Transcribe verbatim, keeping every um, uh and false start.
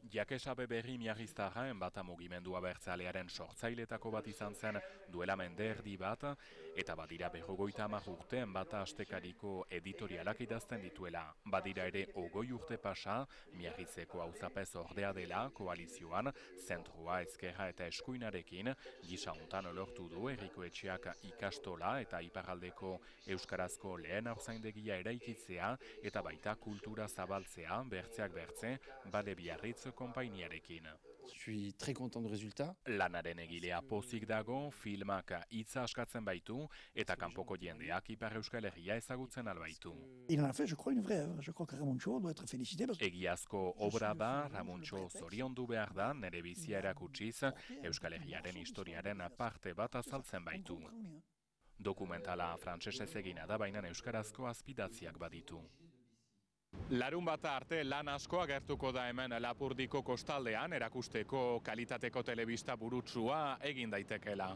Jakesabe berri miarriztarra bata mugimendua bertzalearen sortzailetako bat izan zen duela mende erdi bat, eta badira berrogoita hamar urte bata astekariko editorialak idazten dituela. Badira ere ogoi urte pasa, miarritzeko auzapez ordea dela, koalizioan, zentrua, ezkerra eta eskuinarekin, gisa hontan lortu du herriko etxeak ikastola eta iparraldeko euskarazko lehen haurzaindegia eraikitzea, eta baita kultura zabaltzea, bertzeak bertze, bale Biarritz konpainiarekin. Je suis très content du résultat. Lanaren egilea pozik dago, filmak hitza askatzen baitu, eta kanpoko jendeak Ipar Euskal Herria ezagutzen albaitu. Il en a fait, je crois, une vraie œuvre. Je crois que Ramontxo doit être félicité. Egiazko obra da, Ramontxo zoriondu behar da, nere bizia erakutsiz, Euskal Herriaren historiaren parte bat azaltzen baitu. Dokumentala frantsesez egina da, baina euskarazko azpidatziak baditu. Larun bata arte lan asko agertuko da hemen Lapurdiko kostaldean, erakusteko kalitateko telebista burutsua egin daitekeela.